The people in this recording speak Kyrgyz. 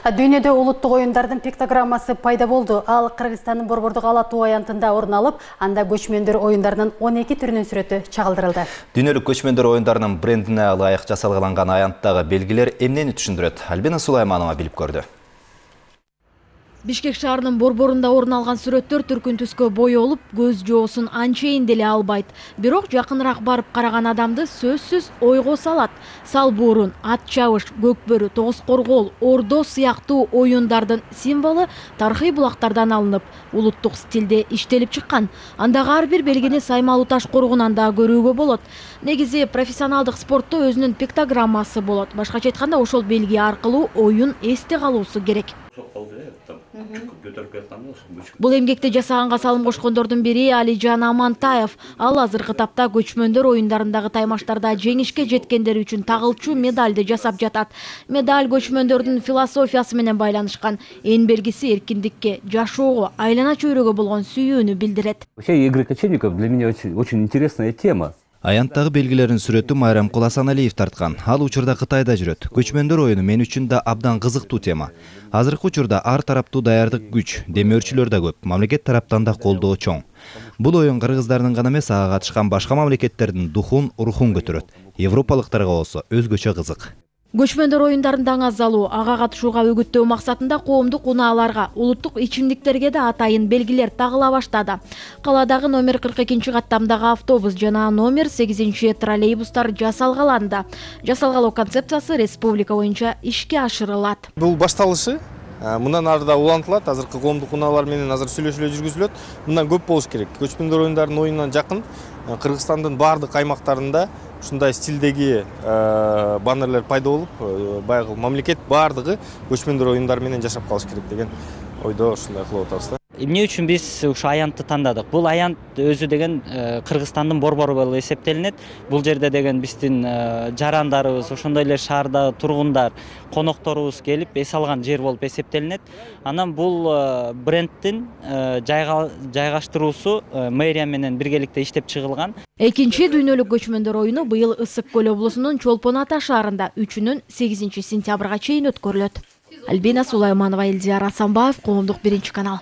Дүйнөдө улуттук оюндардын пиктограммасы пайда болду. Ал Кыргызстандын Борбордук Ала Тоо аянтында орун алып, анда көчмөндөр оюндарынын 12 түрүнүн сүрөтү чагылдырылды. Дүйнөлүк көчмөндөр оюндарынын брендине ылайык жасалган аянттагы белгилер эмнени түшүндүрөт? Альбина Сулайманова билип көрдү. Бишкек шаарынын борборунда орун алган сүрөттөр түркүн түскө боёлуп, көз жоосун анчейин деле албайт. Бирок жакыныраак барып караган адамды сөзсүз ойго салат. Сал буурун, ат чабыш, көкбөрү, тогуз коргоол, ордо сыяктуу оюндардын символу тарыхый булактардан алынып, улуттук стилде иштелип чыккан. Андагы ар бир белгини Саймалуу таш коргунан да көрүүгө болот. Негизи профессионалдык спортто өзүнүн пиктограммасы болот. Башкача айтканда, ошол белги аркылуу оюн эсте калуусу керек. Бул эмгекти жасаганга салым кошкондордун бири Алижан Амантаев. Ал азыркы тапта көчмөндөр оюндарындагы таймаштарда жеңишке жеткендери үчүн тагылчу медальды жасап жатат. Медаль көчмөндөрдүн философиясы менен байланышкан. Эң белгиси эркиндикке, жашоого, айлана чөйрөгө болгон сүйүүнү билдирет. Вообще игры кочевников для меня очень интересная тема. Аянттагы белгилерин сүрөтү Майрамкул Асаналиев тарткан. Ал учурда Кытайда жүрөт. Көчмөндөр оюну мен үчүн да абдан кызыктуу тема. Азыркы учурда ар тараптуу даярдык күч, демөөрчүлөр да көп, мамлекет тараптан да колдоо чоң. Бул оюн кыргыздардын гана эмес, ага катышкан башка мамлекеттердин духун, рухун көтөрөт. Европалыктарга болсо өзгөчө кызык. Көчмөндөр оюндарында аңаз алуу, ага катышууга үгүттөө максатында коомдук унааларга, улуттук ичимдиктерге да атайын белгилер тагыла баштады. Каладагы номер 42-каттамдагы автобус жана номер 8 троллейбустар жасалгаланды. Жасалгалоо концепциясы республика боюнча ишке ашырылат. Бул башталышы мындан арыда улантылат. Азыркы коомдук унаалар менен азыр сүйлөшүүлөр жүргүзүлөт. Мындан көп болуш керек. Көчмөндөр оюндарынын оюнунан жакын Кыргызстандын бардык аймактарында ушундай стилдеги баннерлер пайда болуп, баягы мамлекет бардыгы көчмөндөр оюндары менен жашап калыш керек деген ойдо ушундай кылып атабыз да. Эмне үчүн биз ушу аянтты тандадык? Бул аянт өзү деген Кыргызстандын борбору болуп эсептелинет. Бул жерде деген биздин жарандарыбыз, ошондой эле шаардагы тургундар, конокторубуз келип эс алган жер болуп эсептелинет. Анан бул брендтин жайгаштыруусу мэрия менен биргеликте иштеп чыгылган. Экинчи дүйнөлүк көчмөндөр оюну быйыл Ысык көл облусунун Чолпон Ата шаарында 3-нөн 8 сентябрга чейин өткөрүлөт. Альбина Сулайманова, Элдияр Асанбаев, Коомдук 1 канал.